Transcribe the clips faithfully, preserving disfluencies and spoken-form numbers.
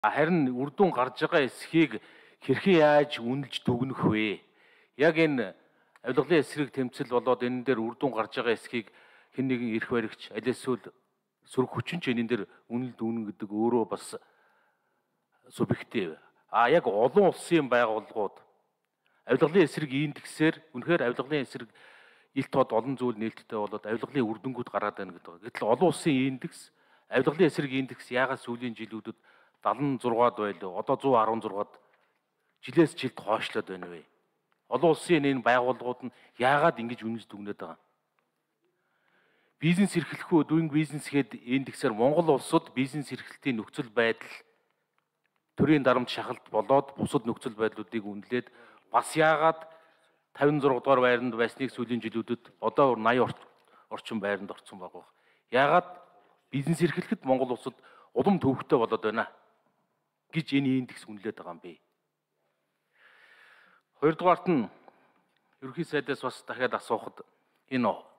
Харин үр дүн гарч байгаа эсхийг хэрхэн яаж үнэлж дүгнэх вэ? Яг энэ авилгалын эсрэг тэмцэл болоод энэ дээр үр дүн гарч байгаа эсхийг хэн нэгэн эрх баригч аль эсвэл сөрөг хүчин ч энэ дээр үнэлж дүгнэн гэдэг өөрөө бас субъектив. А яг олон улсын байгууллагууд авилгалын эсрэг индексээр үнэхээр авилгалын эсрэг ил тод олон зүйл нээлттэй болоод авилгалын үр дүнгууд гараад байна гэдэг. Гэтэл олон улсын индекс, авилгалын эсрэг индекс яагаад сүүлийн жилүүдэд далан зургаад байлаа. Одоо зуун арван зургаад жилээс жилд хойшлоод байна вэ? Олон улсын энэ байгууллагууд нь яагаад ингэж үнэлж дүгнээд байгаа юм? Бизнес эрхлэх үү, doing business гээд индексээр Монгол улсад бизнес эрхлэлтийн нөхцөл байдал төрийн дарамт шахалт болоод бусад нөхцөл байдлуудыг үнэлээд бас яагаад тавин зурга дугаар байранд байсныг сүүлийн жилүүдэд одоо наян орчим байранд орсон байгаа. Яагаад бизнес эрхлэхэд Монгол улсад улам төвөгтэй болоод байна гэж энэ индекс үнэлээд байгаа юм бэ. Хоёрдугаарт нь ерөнхий сайдаас бас дахиад асуухад энэ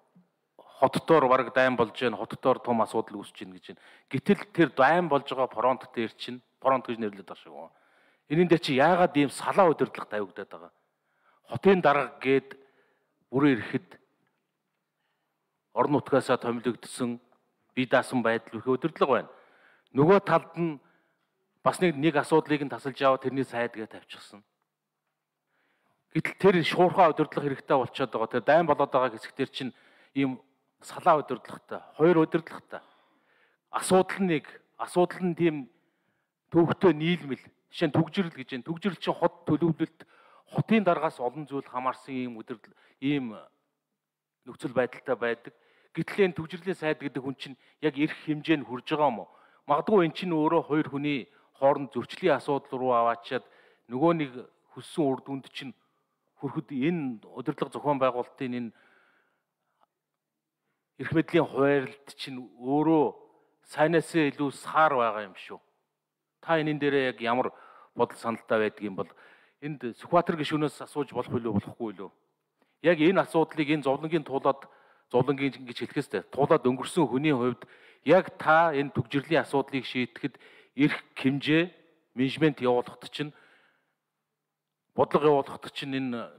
хотдоор бараг дайм болж байна, хотдоор том асуудал үүсэж байна гэж байна. Гэтэл тэр дайм болж байгаа фронт дээр чинь фронт гэж нэрлэдэг байгаа шүү. Энийн дээр чи яагаад ийм салаа удирдлага тавигдаад байгаа? Хотын дарга гээд бүрээ ирэхэд орон нутгаасаа томилогдсон бие даасан байдал их удирдлага байна. Нөгөө талд нь бас нэг нэг асуудлыг нь тасалж аваад тэрний сайдгээ тавьчихсан. Гэтэл тэр шуурхай удирдлага хэрэгтэй болчиход байгаа. Тэр дайм болоод байгаа хэсэгтэр чинь ийм салаа удирдлагатай, хоёр удирдлагатай. Асуудал нь нэг, асуудал нь тийм төвөгтэй нийлмэл. Жишээ нь түгжирэл гэж байна. Түгжирэл чинь хот төлөвлөлт, хотын даргаас олон зүйл хамаарсан ийм удирдал, ийм нөхцөл байдалтай байдаг. Гэтэл энэ түгжирлийн сайд гэдэг хүн чинь яг эрх хэмжээнд хүрж байгаа юм уу? Магадгүй эн чинь өөрөө хоёр хүний хооронд зөрчлийн асуудал руу аваачаад нөгөө нэг хүссэн үр дүнд чинь хүрэхэд энэ удирдлага зохион байгуулалтын энэ эрх мэдлийн хуваарлт чинь өөрөө сайнаас илүү саар байгаа юм шүү. Та энэ дээрээ яг ямар бодол саналтай байдаг юм бол энд Сүхбаатар гишүүнээс асууж болох билүү болохгүй юу? Яг энэ асуудлыг энэ зовлонгийн тулаад зовлонгийн гэж хэлэхээс тулаад өнгөрсөн хүний хувьд яг та энэ түгжирлийн асуудлыг шийдэхэд эрх хэмжээ менежмент явуулахад чинь бодлого явуулахад чинь энэ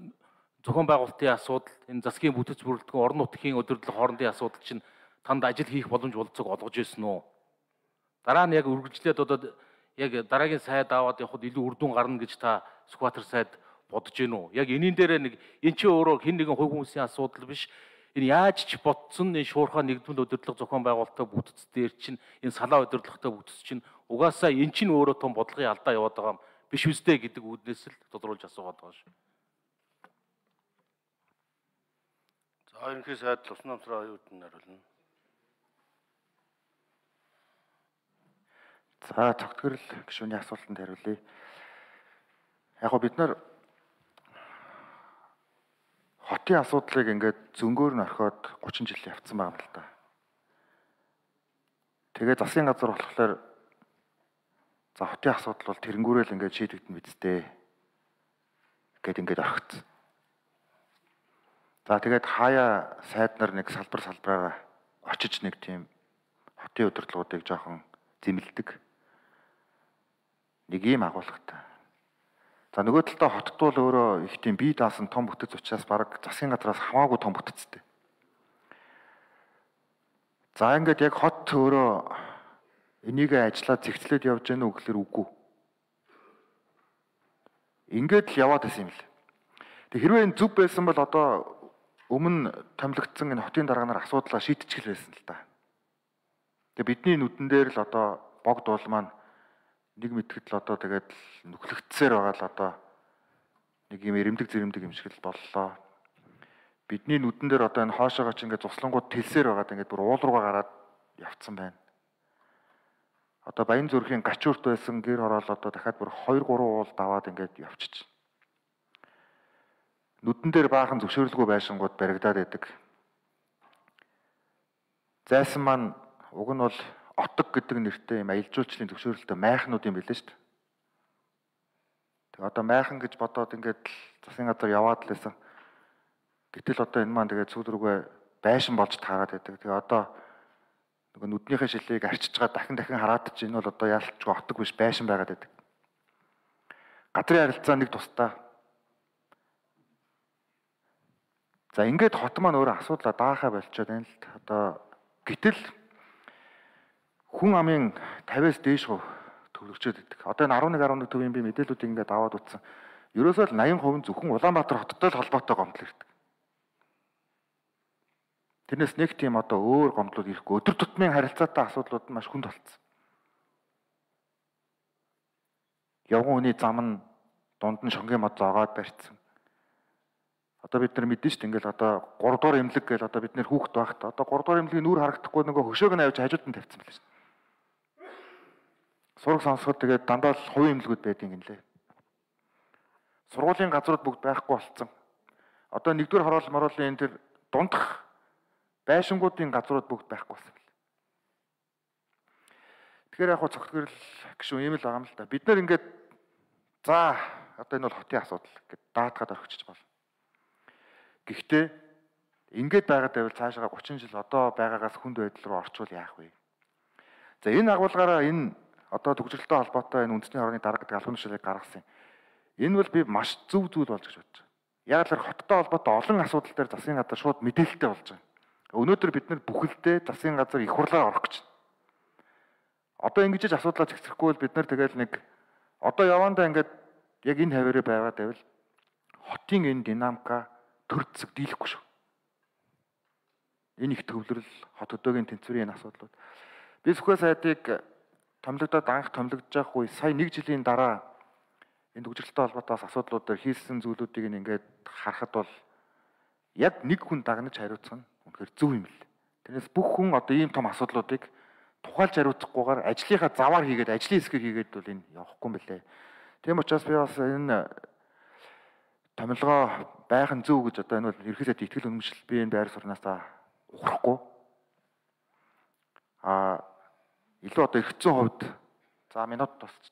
зохион байгуулалтын асуудал, энэ засгийн бүтэц бүрэлдэхүүн, орон нутгийн удирдлага хоорондын асуудал чинь танд ажил хийх боломж болцоог олгож ирсэн үү? Дараа нь яг үргэлжлээд одоо яг дараагийн сайд аваад явхад илүү үр дүн гарна гэж та Сүхбаатар сайд бодож гин үү? Яг энийн дээр нэг эн чинь өөрөө хэн нэгэн хувь хүмүүсийн асуудал биш. Энэ яаж ч ботсон энэ шуурхай нэгдмэл удирдлага зохион байгуулалтаа бүтц дээр чинь энэ салаа удирдлагатай бүтц чинь угаасаа эн чинь өөрөө том бодлогын алдаа яваад байгаа юм биш үстэй гэдэг үүднээс л тодруулж асуугаад байгаа шүү. За ерөнхий сайд Лувсан намтраа юуд нь хариулна. За цогтгөрл гишүүний асуултанд хариулъя. Яг гоо бид нар хотын асуудлыг ингээд зөнгөөр нь орхиод гучин жил явцсан байгаа юм л та. Тэгээ засгийн газар болохоор за хотын асуудал бол тэрэнгүүрэл ингээд шийдэгдэн бидтэй гэд ингээд орхиц. За тэгээд хаяа сайд нар нэг салбар салбараараа очиж нэг тийм хотын удирдлагуудыг жоохон зэмлдэг. Нэг ийм агуулгатай. За нөгөө талдаа хотод бол өөрөө их тийм бие даасан том бүтэц учраас баг засгийн газраас хамаагүй том бүтэцтэй. За ингээд яг хот өөрөө энийг ажиллаад зэгцлээд явж гэнэ үү гэхээр үгүй. Ингээд л яваад байсан юм л. Тэг хэрвээ энэ зүв байсан бол одоо өмнө томилогдсон энэ хотын дарга нар асуудлаа шийдчихэл байсан л та. Тэг бидний нүдэн дээр л одоо богд уул маань нэг мэдгэд л одоо тэгээд нүхлэгдсээр байгаа л одоо нэг юм эрэмдэг зэрэмдэг юм шиг л боллоо. Бидний нүдэн дээр одоо энэ хоошоогоо ч ингээд цуслангууд тэлсээр байгаад ингээд бүр уул руугаа гараад явцсан байна. Одоо Баян зүрхийн гачуурт байсан гэр хороол одоо дахиад бүр хоёр гурван уул даваад ингээд явчих. Нүдэн дээр баахан зөвшөөрлгүй байшингууд баригдаад байдаг. Зайсан маань уг нь бол отог гэдэг нэртэй юм аялал жуулчлалын зөвшөөрөлтөй майхнууд юм билээ шүү дээ. Тэгээ одоо майхан гэж бодоод ингээд засгийн газар яваад л байсан. Гэтэл одоо энэ маань тэгээд сүүл рүүгээ байшин болж таарад байдаг. Тэгээ одоо нөгөө нүднийхээ шилийг арчиж байгаа дахин дахин хараад ч энэ бол одоо яалтчгүй отог биш байшин байгаад байдаг. Газрын харилцаа нэг тусдаа. За ингээд хот маань өөрөө асуудлаа даахаа болчиход байна л одоо гэтэл хүн амын тавиас дээш гоо төвлөгчөөд байдаг. Одоо энэ арван нэг арван нэг төвийн би мэдээллүүдийг ингээд аваад утсан. Ерөөсөө л восемь хувь зөвхөн Улаанбаатар хоттой л холбоотой гомдол ирдэг. Тэрнээс нэг тийм одоо өөр гомдлууд ирэхгүй. Өдөр тутмын харилцаатай асуудлууд нь маш хүнд болцсон. Явган хүний зам нь дунд нь шонгийн мод зоогоод барьцсан. Одоо бид нар мэдэн шүү дээ ингээл одоо гурав дугаар эмнэлэг гээл одоо бид нэр хүүхэд байхад одоо гурав дугаар эмнэлгийн нүур харагдахгүй нөгөө хөшөөг нь авч хажууд нь тавьсан байлаа шүү дээ. Сураг сонсоход тэгээд дандаа л хувийн эмнэлгүүд байдیں۔ Гинлээ. Сургуулийн газрууд бүгд байхгүй болцсон. Одоо нэгдүгээр хороол мороолын энэ тэр дундах байшингуудын газрууд бүгд байхгүй болсон байна. Тэгэхээр яг хоо цогтгөрл гişүн ийм л байгаа юм л да. Бид нар ингээд за одоо энэ бол хотын асуудал гэд даатгаад орхичих болно. Гэхдээ ингээд байгаад байвал цаашаа гучин жил одоо байгаагаас хүнд байдал руу орчвол яах вэ? За энэ агуулгаараа энэ одоо төгсрөлтөй холбоотой энэ үндэсний хорооны дарга гэдэг албан тушаалыг гаргасан. Энэ бол би маш зөв зүйл болж гэж бодож байна. Яг л хоттой холбоотой олон асуудал дээр засгийн газар шууд мэдээлэлтэй болж байгаа. Өнөөдөр бид нар бүхэлдээ засгийн газар их хурлаар орох гэж байна. Одоо ингэж ч асуудлаа зэгцэрэхгүй бол бид нар тэгэл нэг одоо явандаа ингээд яг энэ хаваараа байгаад байвал хотын энэ динамика төр зэг дийлэхгүй шүү. Энэ их төвлөрөл хот өдөөгийн тэнцвэрийн асуудлууд. Би Сүхбай сайдыг томилогдоод анх томилогдож явах үе сая нэг жилийн дараа энэ төгсрөлтөй холбоотойос асуудлууд дээр хийсэн зүйлүүдийг ингээд харахад бол яг нэг хүн дагнаж хариуцах нь үнэхээр зөв юм л. Тэрнээс бүх хүн одоо ийм том асуудлуудыг тухайлж хариуцахгүйгээр ажлынхаа заваар хийгээд ажлын хэсгээр хийгээд бол энэ явахгүй юм билээ. Тийм учраас би бас энэ томилгоо байх нь зөв гэж одоо энэ бол ерхий сайд итгэл үнэмшил би энэ байр сурнаасаа ухрахгүй. А илүү одоо эргэцэн хувьд за минут тусч.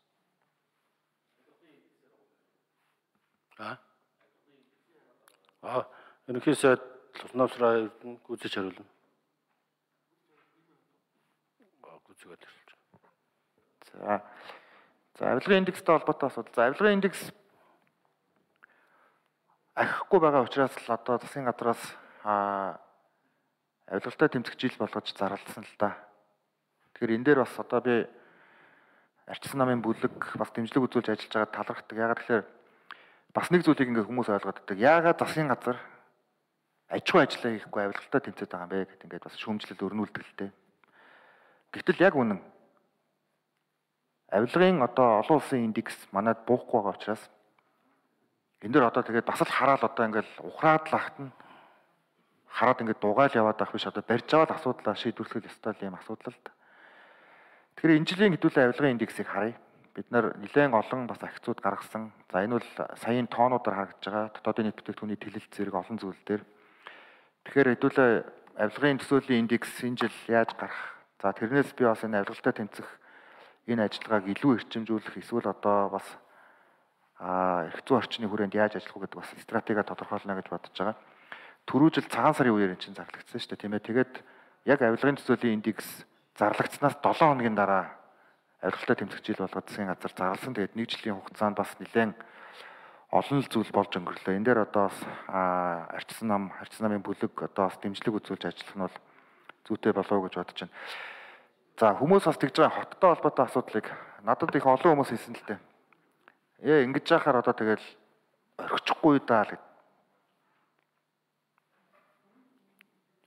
А А ерхий сайд Луснавсраа гүйцэж хариулна. Гүйцэгээд ирж. За. За авилгын индекстэй холбоотой асуудал. За авилгын индекс архихгүй байгаа учраас л одоо засгийн газраас а авилгалтай тэмцэх жил болгож зарласан л да. Тэгэхээр энэ дээр бас одоо би арчсан намын бүлэг бас дэмжлэг үзүүлж ажиллаж байгаа талархдаг. Яагаад тэгэхээр бас нэг зүйлийг ингээ хүмүүс ойлгоод байдаг. Яагаад засгийн газар аж ахуй ажиллаа хийхгүй авилгалтай тэмцээд байгаа юм бэ гэдэг ингээд бас шүүмжлэл өрнүүлдэг л дээ. Гэвтэл яг үнэн авилгын одоо олон улсын индекс манайд буухгүй байгаа учраас энэ дөр одоо тэгээд бас л хараал одоо ингээл ухраад л ахт нь хараад ингээд дугаал яваад байх биш одоо барьж аваад асуудлаа шийдвэрлэх ёстой юм асуудал л да. Тэгэхээр энэ жилийн хэдүүлээ авилгын индексийг харъя. Бид нар нэлээд олон бас ахицууд гаргасан. За энэ бол саяын тоонуудаар харагдж байгаа. Дотоодын нийт бүтээгдэхүүний тэлэлт зэрэг олон зүйл дээр. Тэгэхээр хэдүүлээ авилгын төсөөлийн индекс энэ жил яаж гарах? За тэрнээс би бас энэ авилгалтай тэмцэх энэ ажиллагааг илүү эрчимжүүлэх эсвэл одоо бас а эрх зүйн орчны хүрээнд яаж ажиллах вэ гэдэг бас стратеги тодорхойлно гэж бодож байгаа. Түрүү жил цагаан сарын үеэр энэ чинь зарлагдсан шүү дээ тийм ээ. Тэгээд яг авилгын төсөөлийн индекс зарлагдсанаас долоон хоногийн дараа авилгалтай тэмцэх жил болгоод засгийн газар зарласан. Тэгээд нэг жилийн хугацаанд бас нэлээд олон л зүйл болж өнгөрлөө. Энэ дээр одоо бас арчсан нам, арчсан намын бүлэг одоо бас дэмжлэг үзүүлж ажиллах нь бол зүйтэй болов уу гэж бодож байна. За хүмүүс бас тэгж байгаа хоттой холбоотой асуудлыг надад их олон хүмүүс хэлсэн л дээ. Ээ ингэж яхаар одоо тэгэл орхичихгүй даа л.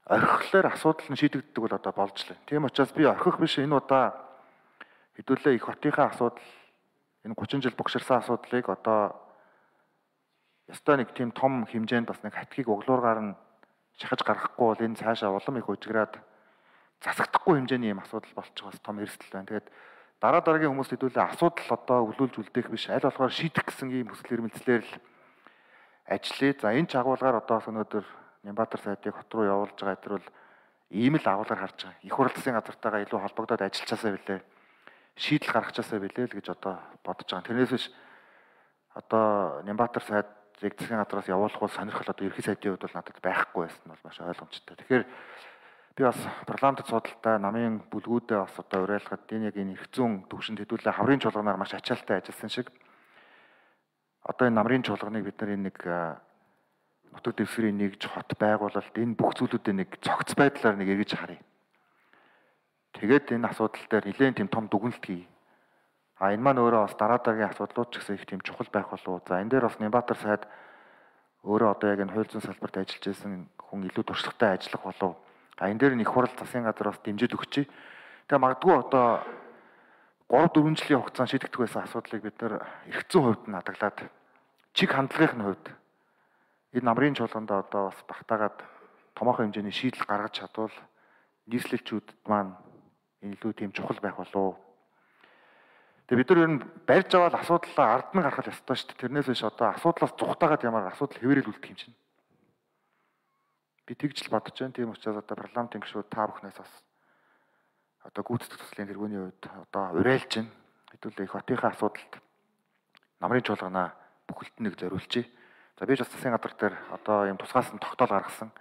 Орхихлоор асуудал нь шийдэгддэг бол одоо болж лээ. Тийм учраас би орхих биш энэ удаа хэдүүлээ их хотынхаа асуудал энэ гучин жил богширсан асуудлыг одоо ястай нэг тийм том хэмжээнд бас нэг хатгийг углуургаар нь шахаж гаргахгүй бол энэ цаашаа улам их үжиграад засагдахгүй хэмжээний юм асуудал болчих бас том эрсдэл байна. Тэгээд дараа дараагийн хүмүүс хэдүүлээ асуудал одоо өвлүүлж үлдээх биш аль болохоор шийдэх гэсэн ийм хүсэл эрмэлзлээр л ажиллая. За энэ ч агуулгаар одоо өнөөдөр Нямбатар сайдыг хот руу явуулж байгаа тэр бол ийм л агуулгаар харж байгаа. Их хурл засгийн газартайгаа илүү холбогдоод ажиллачаасаа билээ. Шийдэл гаргачаасаа билээ л гэж одоо бодож байгаа. Тэрнээс биш одоо Нямбатар сайдыг засгийн газраас явуулах бол сонирхол одоо ерхий сайдын хувьд бол надад байхгүй байсан нь бол маш ойлгомжтой. Тэгэхээр Би бас парламентд судалтай намын бүлгүүдээ бас одоо уриалгад энэ яг энэ эрх зүйн төвшөнд хэдүүлээ хаврын чуулганаар маш ачаалттай ажилласан шиг одоо энэ намрын чуулганыг бид нар энэ нэг нутаг дэвсгэрийн нэгж хот байгуулалт энэ бүх зүйлүүдээ нэг цогц байдлаар нэг эргэж харъя. Тэгээд энэ асуудал дээр нэлээд тийм том дүгнэлт хий. А энэ маань өөрөө бас дараа дараагийн асуудлууд ч гэсэн их тийм чухал байх болов уу. За энэ дээр бас Нямбатар сайд өөрөө одоо яг энэ хууль зүйн салбарт ажиллаж байсан хүн илүү туршлагатай ажиллах болов. А энэ дээр нэг хурал засгийн газар бас дэмжиж өгчээ. Тэгээ магадгүй одоо гурав дөрвөн жилийн хугацаанд шийдэгдэх байсан асуудлыг бид нар эрх зүйн хувьд нь хадгалаад чиг хандлагын хувьд энэ намрын чуулганд одоо бас багтаагаад томоохон хэмжээний шийдэл гаргаж чадвал нийслэлчүүдэд маань илүү тийм чухал байх болов. Тэгээ бид нар ер нь барьж аваад асуудлаа ард нь гаргах ёстой шүү дээ. Тэрнээс биш одоо асуудлаас зүхтаагаад ямар асуудал хэвээрэл үлдэх юм чинь. Би тэгж л бодож байна. Тийм учраас одоо парламентын гишүүд та бүхнээс бас одоо гүйцэтгэх төслийн тэргүүний үед одоо уриалж байна. Хэдүүлээ их хотынхаа асуудалд намрын чуулганаа бүхэлд нэг зориулжээ. За би ч бас засгийн газар дээр одоо юм тусгаас нь тогтоол гаргасан.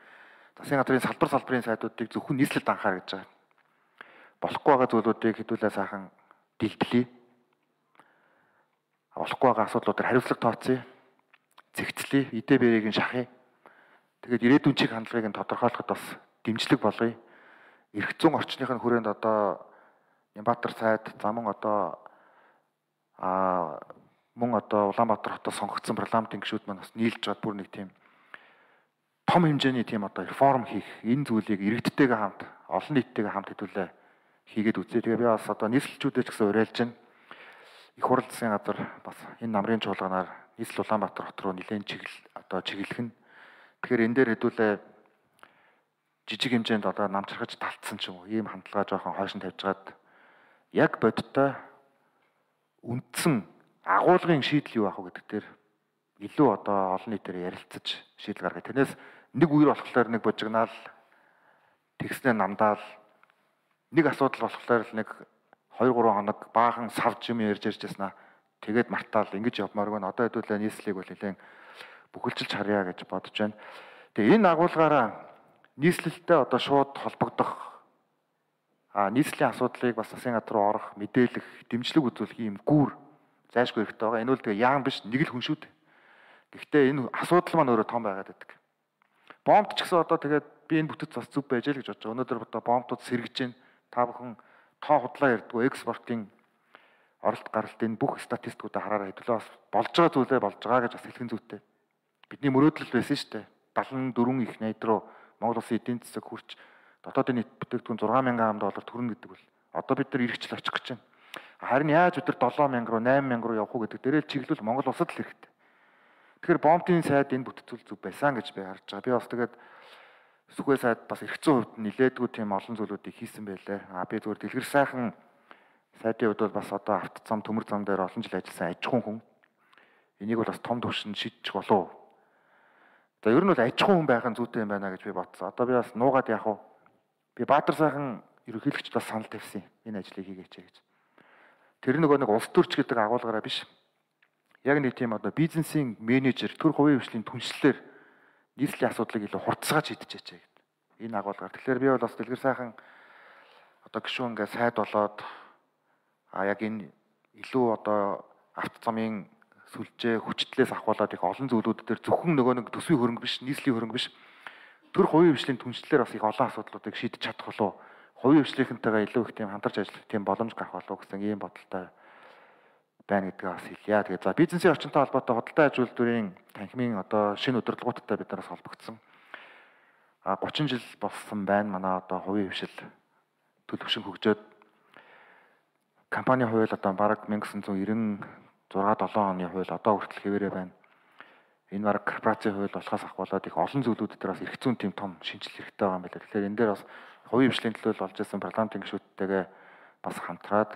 Засгийн газрын салбар салбарын сайдуудыг зөвхөн нийслэлд анхаар гэж байгаа. Болохгүй байгаа зүйлүүдийг хэдүүлээ сайхан дэлбэлээ. Болохгүй байгаа асуудлуудаар хариуцлага тооцъё. Зэгцлэе, идэ бэрийг нь шахъя. Тэгээд ирээдүйн чиг хандлагыг нь тодорхойлоход бас дэмжлэг болгоё. Эрх зүйн орчныхын хүрээнд одоо Нямбатар сайд за мөн одоо а мөн одоо Улаанбаатар хотод сонгогдсон парламентын гишүүд маань бас нийлж чад бүр нэг тийм том хэмжээний тийм одоо реформ хийх энэ зүйлийг иргэдтэйгээ хамт олон нийттэйгээ хамт хэдүүлээ хийгээд үзье. Тэгээ би бас одоо нийслэлчүүдээ ч гэсэн уриалж байна. Их хурал засгийн газар бас энэ намрын чуулганаар нийслэл Улаанбаатар хот руу нэлээд чиглэл одоо чиглэх нь. Тэгэхээр энэ дээр хэдүүлээ жижиг хэмжээнд одоо намчрахж талтсан ч юм уу ийм хандлага жоохон хойш нь тавьжгаад яг бодиттой үндсэн агуулгын шийдэл юу ах вэ гэдэг дээр илүү одоо олон нийтээр ярилцаж шийдэл гаргая. Тэрнээс нэг үер болохоор нэг бужигнаал тэгснээр намдаал нэг асуудал болохоор л нэг хоёр гурван хоног баахан савж юм ярьж ярьж яснаа тэгээд мартаал ингэж явмааргүй н одоо хэдүүлээ нийслэлийг бол нэлээд бүхэлжилж харъя гэж бодож байна. Тэгээ энэ агуулгаараа нийслэлтэй одоо шууд холбогдох а нийслэлийн асуудлыг бас засгийн газар руу орох, мэдээлэх, дэмжлэг үзүүлэх юм гүүр зайлшгүй хэрэгтэй байгаа. Энэ үл тэгээ яам биш нэг л хүн шүү дээ. Гэхдээ энэ асуудал маань өөрөө том байгаад байдаг. Бомбд ч гэсэн одоо тэгээд би энэ бүтэц бас зүв байж л гэж бодож байгаа. Өнөөдөр одоо бомбдууд сэргэж байна. Та бүхэн тоо худлаа ярьдгүй экспортын оролт гаралтын бүх статистикуудаа хараараа хэдүүлээ бас болж байгаа зүйлээ болж байгаа гэж бас хэлхэн зүйтэй. Бидний мөрөөдөл байсан шүү дээ. даалхан дөрвөн их найд руу Монгол Улсын эдийн засаг хүрч дотоодын нийт бүтээгдэхүүн зургаан мянган доллар төрнө гэдэг бол одоо бид нар эргэжл очих гэж байна. Харин яаж бид нар долоон мянга руу найман мянга руу явах уу гэдэг дээрээ чиглэл Монгол Улсад л хэрэгтэй. Тэгэхээр бомбын сайд энэ бүтцүүл зүг байсан гэж би харж байгаа. Би бас тэгээд Сүхбай сайд бас эрх зүйн хувьд нилээдгүй тийм олон зүйлүүдийг хийсэн байлаа. А би зүгээр дэлгэр сайхан сайдын хувьд бол бас одоо авто зам төмөр зам дээр олон жил ажилласан аж ахуйн хүн. Энийг бол бас том төвшөнд шийдчих болов. За ер нь бол аж ахуйн хүн байх нь зүйтэй юм байна гэж би бодсон. Одоо би бас нуугаад яах вэ? Би Баатар сайхан ерөнхийлөгчд бас санал тавьсан энэ ажлыг хийгээч гэж. Тэр нөгөө нэг улс төрч гэдэг агуулгаараа биш. Яг нэг тийм одоо бизнесийн менежер, төр хувийн хвшлийн түншлэлээр нийслэлийн асуудлыг илүү хурцсааж шийдчихэж байгаа гэдэг. Энэ агуулгаар. Тэгэхээр би бол бас дэлгэр сайхан одоо гişүүн ингээ сайд болоод а яг энэ илүү одоо авто замын сүлжээ хүчтлээс ахуулаад их олон зүйлүүд дээр зөвхөн нөгөө нэг төсвийн хөрөнгө биш, нийслэлийн хөрөнгө биш. Төр хувийн хвшлийн түншлэлээр бас их олон асуудлуудыг шийдэж чадах болов. Хувийн хвшлийнхэнтэйгээ илүү их тийм хамтарч ажиллах тийм боломж гарах болов гэсэн ийм бодолтой байна гэдгээ бас хэлье. Тэгээд за бизнесийн орчинтой холбоотой худалдаа аж үйлдвэрийн танхимын одоо шинэ удирдлагуудтай бид нараас холбогдсон. А гучин жил болсон байна. Манай одоо хувийн хвшил төлөвшин хөгжөөд компани хууль одоо бараг 천구 девяносто шесть семь оны хууль одоо хүртэл хэвээрээ байна. Энэ бараг корпорацийн хууль болохоос ахуулаад их олон зүйлүүд дээр бас эрх зүйн тийм том шинжилэл хэрэгтэй байгаа юм байна. Тэгэхээр энэ дээр бас хувийн хвшлийн төлөөлөл болж ирсэн парламентын гишүүдтэйгээ бас хамтраад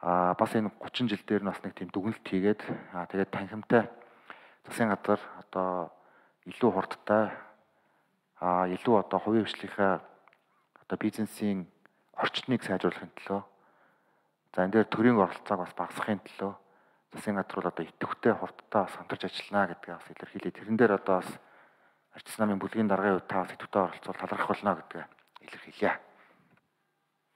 а бас энэ гучин жил дээр нь бас нэг тийм дүгнэлт хийгээд а тэгээд танхимтай засгийн газар одоо илүү хурдтай а илүү одоо хувийн хвшлийнхаа одоо бизнесийн орчныг сайжруулахын төлөө за энэ дээр төрийн оролцоог бас багасгахын төлөө засгийн газар бол одоо идэвхтэй хурдтай бас хамтарч ажиллана гэдгээ бас илэрхийлээ. Тэрэн дээр одоо бас арчс намын бүлгийн даргын хувьд та бас идэвхтэй оролцоод талархах болно гэдгээ илэрхийлье.